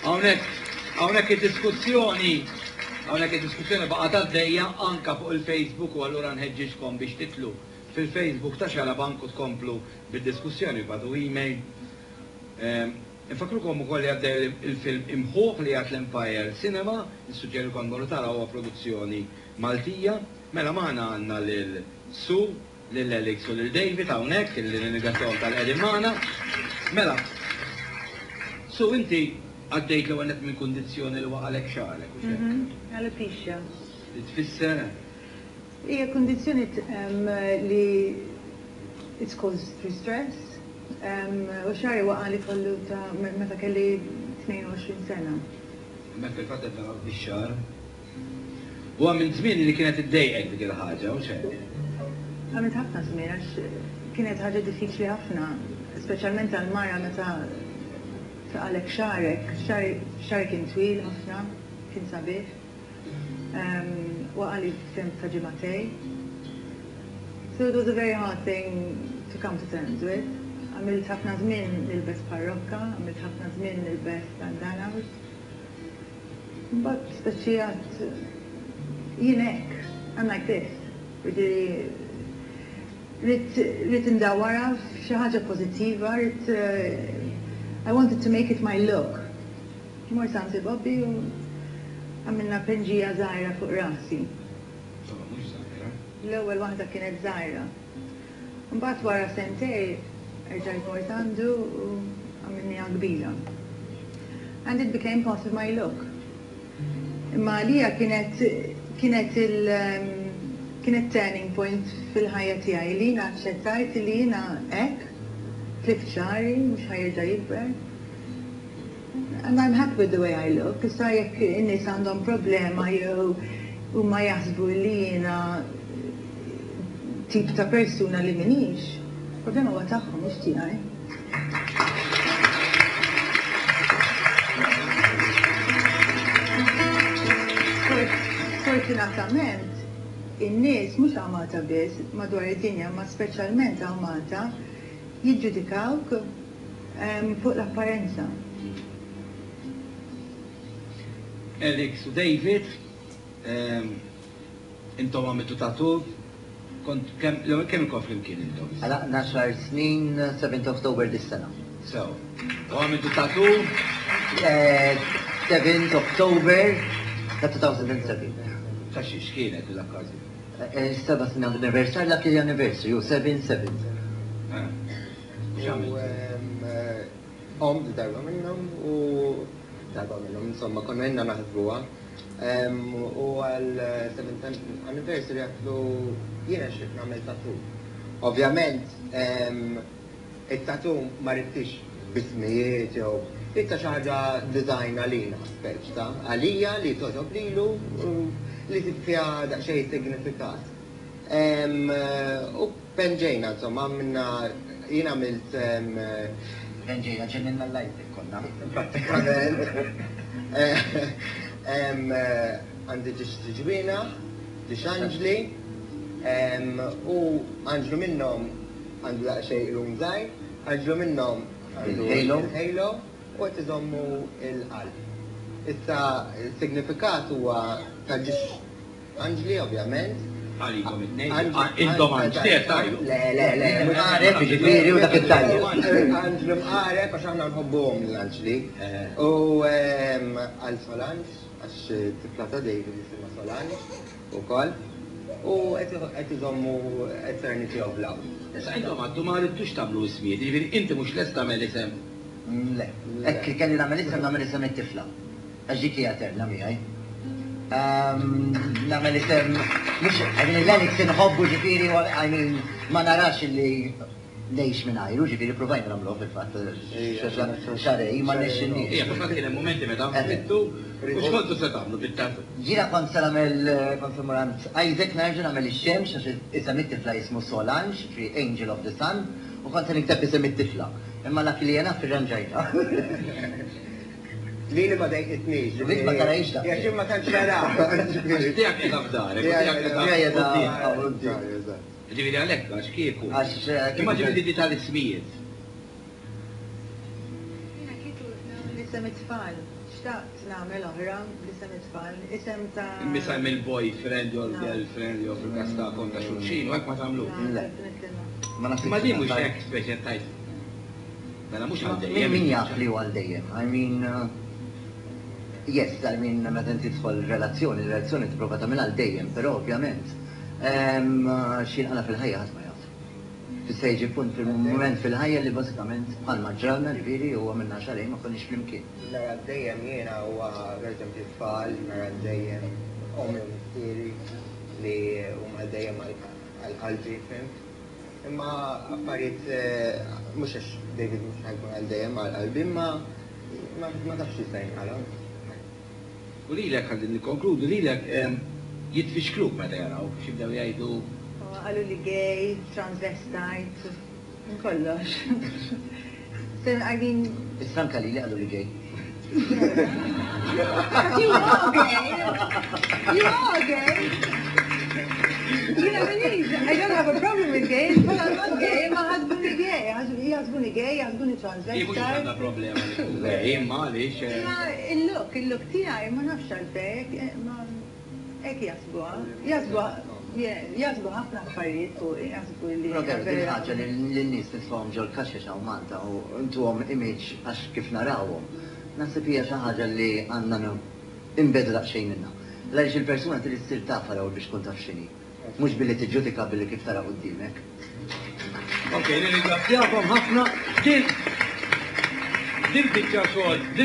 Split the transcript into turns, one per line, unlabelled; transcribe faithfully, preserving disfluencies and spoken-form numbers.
Hawnhekk hawnhekk id-diskussjoni hawnhekk id-diskussjoni baqgħet għaddejja anka fuq il-Facebook u allura nħeġġiġkom biex titlu fil-Facebook ta' Xarabank u tkomplu bid-diskussjoni bagħtu email. Ehm, Infakrukom ukoll li għaddej il-film Imħuħ li għad l-Empire Cinema, nissuġġerikom morru taraw huwa produzzjoni Maltija. Mela magħna għandna lil Su, lil Alex u lil David hawnhekk illi nirringrazzjahom talli qegħdin magħna. Mela, Su inti għaddejt l-ewwel nett minn kundizzjoni li waqalek xagħrek u xek.
Mhm, Alopecia.
Li tfisser
Hija kundizzjoni um, li it's caused through stress. Um, u xagħri waqali kollu ta' meta kelli tnejn u għoxrin sena.
Mek fil-fatt qed naraw bix-xagħar. U minn żmien li kienet iddejqek dik il-ħaġa, u xek.
Għamilt ħafna żmien għax kienet ħaġa diffiċli ħafna, speċjalment għal-mara meta taqalek xagħrek, xagħri kien twil ħafna, kien sabiħ. Um, waqali f'temp ta' ġimagħtejn. So it was a very hard thing to come to terms with. Għamilt ħafna żmien nilbes parrokka, għamilt ħafna żmien nilbes bandanas. But speċi għedt jien hekk, I'm like this. Jiġifieri, ridt indawwarha f'xi ħaġa pożittiva, ridt uh, I wanted to make it my look. Mort għand Bobby u għamilna penġija żgħira fuq rasi.
Insomma, mhux żgħira.
L-ewwel waħda kienet żgħira. Mbagħad wara sentejn erġajt mort għandu u għamilniha kbira. And it became part of my look. Imma għalija kienet kienet il um, kienet turning point fil-ħajja tiegħi li jiena aċċettajt li jiena hekk, tlift xagħri, mhux ħa jerġa' jikber. And I'm happy with the way I look. Issa jekk in-nies għandhom problema jew huma jaħsbu li jiena tip ta' persuna li m'iniex, problema huwa tagħhom mhux tiegħi. Sfortunatament, in-nies mhux hawn Malta biss madwar id-dinja, ma speċjalment hawn Malta, jiġġudikawk em, fuq l-apparenza.
Alex u David, ehm, intom għamiltu tattoo, kont kemm l-ewwel kemm ilkom flimkien intom?
Għalaqna għaxar snin seventh October dis-sena.
So, u għamiltu tattoo,
Eh, seventh October ta' elfejn u sebgħa.
Ta' xiex kienet l-okkażjoni?
Eh, Seba' snin anniversary, lucky anniversary, u seven seven.
Eh, X'għamilt?
U em, eh, Om darba minnhom u darba minnhom, insomma, konna ilna naħsbuha. Em, U għal seventh anniversary għedtlu jiena xtaqt nagħmel tattoo. Ovvjament, em, it-tattoo ma ridtx b'ismijiet jew ridtha xi ħaġa design għalina, speċ ta' għalija li togħġob lilu u li fiha daqsxejn signifikat. Em, U penġejna, insomma, minna jien għamilt em,
Penġejna ġenninna l-lajtek konna.
Pratikament. Eh, em, eh, Għandi żewġ ġwienaħ, żewġ anġli, em, u anġlu minnhom għandu daqsxejn qrun żgħir, anġlu minnhom għandu
Il-halo.
il-halo u qed iżommu il-qalb. Issa il-signifikat huwa ta' żewġ anġli ovvjament.
Għalikom it-tnejn.
Anġli-
Ah, intom anġli, tajju.
Le, le, le.
Mqareb, ġifieri, u dak it-tajjeb.
Anġlu mqareb għax aħna nħobbuhom l-anġli.
Eh.
U em, għal Solange, għax tifla ta' David jisimha Solange ukoll. U qed iżommu Eternity of Love.
Issa intom għaddu ma ridtux tagħmlu ismijiet, jiġifieri inti mhux lest tagħmel isem.
Mm, Le, hekk kelli nagħmel isem nagħmel isem it-tifla. Għax dik hija eterna miegħi. Ehm, Nagħmel isem, mhux, I mean, l-Alex inħobbu ġifieri, I mean, ma narax li ngħix mingħajru, ġifieri provajna nagħmluh fil-fatt, xahrejn, ma rnexxilniex.
Ija, fil-fatt kien hemm momenti meta nfittu, u x'kontu se tagħmlu bit-tattoo?
Jiena kont se nagħmel kont se mmur għand Isaac nerġa' nagħmel ix-xemx għax isem it-tifla jismu Solange, ġifieri Angel of the Sun, u kont se nikteb isem it-tifla. Imma dak li jena firranġajta.
Lili ma dejqitnix.
Dik ma tarahiex daqshekk.
Jekk jien ma tantx nara.
Għax tiegħek qiegħda f'darek, u tiegħek
Tiegħi
qiegħda
qiegħda
quddiem.
Eżatt.
Ġifieri għalhekk għax kieku.
Għax, eh,
Imma
kieku-
ġifieri di tal-ismijiet.
Jiena kieku nagħmel B'isem it-tfal. Xtaqt nagħmel oħra b'isem it-tfal. Isem ta'
Isem il-boyfriend jew
No.
il-girlfriend jew fil-każ tagħkom ta' xulxin, u hekk ma tagħmlu.
No,
Le.
definitely not.
Ma naħsibx
Ma din mhux
nasal-
hekk speċi tajt. Mela mhux għal
Min
dejjem.
min jaf li huwa għal dejjem? I mean, uh, yes, I mean, meta inti tidħol relazzjoni, relazzjoni tipprova tagħmilha għal dejjem, però ovvjament em, x'inqala fil-ħajja ħadd ma jaf. Tista' jiġi punt fil-mument fil-ħajja li bażikament bħalma ġralna ġifieri huwa minna xarejn ma konniex flimkien.
Nara dejjem jiena huwa per eżempju tfal, nara dejjem ommi u missieri li huma dejjem għal qalbi, fhimt? Imma affarijiet eh, mhux għax David mhux ħa jkun għal dejjem għal qalbi, imma ma ma tafx x'jista' jinqala.
U lilek ħalli nikkonkludu lilek em, jitfixkluk meta jaraw x'jibdew jgħidu
U Qalu li gay, transvestite, kollox. So, I mean,
Issa anka li li qalu li gay.
but you are gay. You are gay. You know, I mean, I don't have a problem with gays, but I'm not gay. Ma ħasbuni gay. Jaħsbuni gay, jaħsbuni
Hi mhux għandha
transvestite.
problema li tkun gay, imma għaliex eh,
Ma il-look, il-look tiegħi ma nafx għalfejn, ma hekk jaħsbuha. Jaħsbuha, yeah, jaħsbu ħafna affarijiet fuq, jaħsbu li.
Però veru, din ħaġa li l-nies nitfgħuhom ġol kaxex hawn Malta u ntuhom image għax kif narawhom. Naħseb hija xi ħaġa li għandna nbiegħdu daqsxejn minnha. Għaliex il-persuna trid issir tafha l-ewwel biex tkun taf x'inhi. Mhux billi tiġġudika billi kif tara quddiemek.
Ok, nirringrazzjakom ħafna. Din din biċċa xogħol, din